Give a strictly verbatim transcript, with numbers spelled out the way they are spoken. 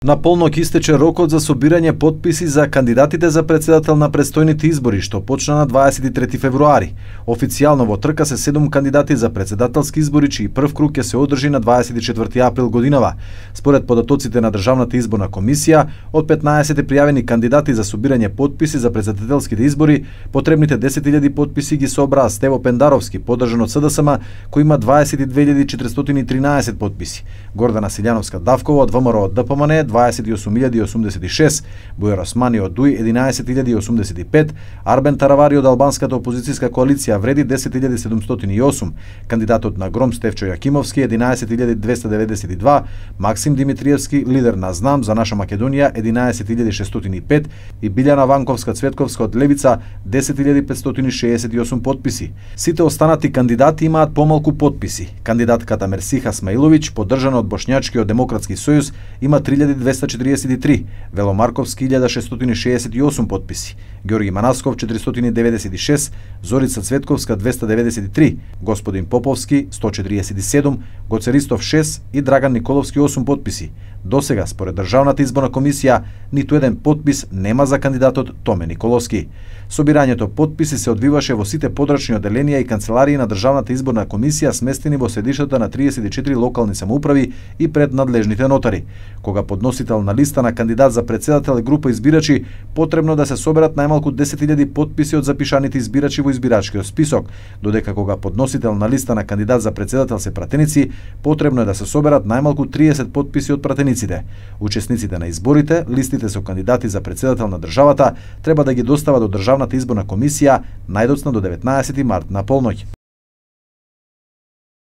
На полноќ истече рокот за собирање потписи за кандидатите за председател на предстојните избори, што почна на дваесет и трети февруари. Официјално во трка се седум кандидати за председателски избори, чиј прв круг ќе се одржи на дваесет и четврти април годинава. Според податоците на Државната изборна комисија, од петнаесет пријавени кандидати за собирање потписи за председателските избори, потребните десет илјади потписи ги собраа Стево Пендаровски, поддржан од СДСМ, кој има дваесет и две илјади четиристотини и тринаесет потписи. Гордана Силјановска Давкова од ВМРО од ДПМН дваесет и осум илјади осумдесет и шест, Бојар Османи од ДУИ единаесет илјади осумдесет и пет, Арбен Таравари од Албанската опозицијска коалиција вреди десет илјади седумстотини и осум, кандидатот на Гром Стефчо Јакимовски единаесет илјади двесте деветдесет и два, Максим Димитриевски, лидер на Знам за наша Македонија единаесет илјади шестстотини и пет и Билјана Ванковска Цветковска од Левица десет илјади петстотини шеесет и осум потписи. Сите останати кандидати имаат помалку потписи. Кандидатката Мерсиха Смаиловиќ, поддржана од Бошњачкиот демократски сојуз, има три илјади двесте четириесет и три, Вело Марковски илјада шестстотини шеесет и осум потписи, Ѓорги Манасков четиристотини деветдесет и шест, Зорица Цветковска двесте деветдесет и три, Господин Поповски сто четириесет и седум, Гоце Ристов шест и Драган Николовски осум потписи. Досега, според Државната изборна комисија, ниту еден потпис нема за кандидатот Томе Николовски. Собирањето потписи се одвиваше во сите подрачни оделенија и канцеларии на Државната изборна комисија, сместени во седиштата на триесет и четири локални самоуправи и пред надлежните нотари. Кога подносител на листа на кандидат за председател и група избирачи, потребно да се соберат најмалку десет илјади потписи од запишаните избирачи во избирачкиот список, додека кога подносител на листа на кандидат за председател се пратеници, потребно е да се соберат најмалку триесет потписи од пратениците. Учесниците на изборите, листите со кандидати за председател на државата, треба да ги достават до Државната изборна комисија најдоцна до деветнаесети март на полноќ.